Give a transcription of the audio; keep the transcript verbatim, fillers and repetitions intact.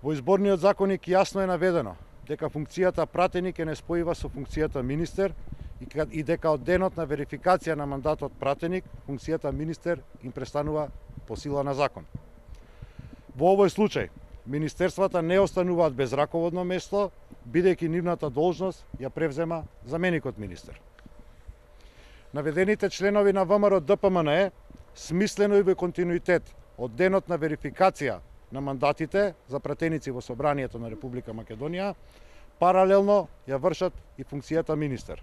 Во изборниот законник јасно е наведено дека функцијата пратеник е неспојива со функцијата министер и дека од денот на верификација на мандатот пратеник, функцијата министер им престанува по сила на закон. Во овој случај, министерствата не остануваат без раководно место, бидејќи нивната должност ја превзема заменикот министер. Наведените членови на ВМРО Д П М Н Е смислено и во континуитет од денот на верификација на мандатите за пратеници во Собранието на Република Македонија, паралелно ја вршат и функцијата министер.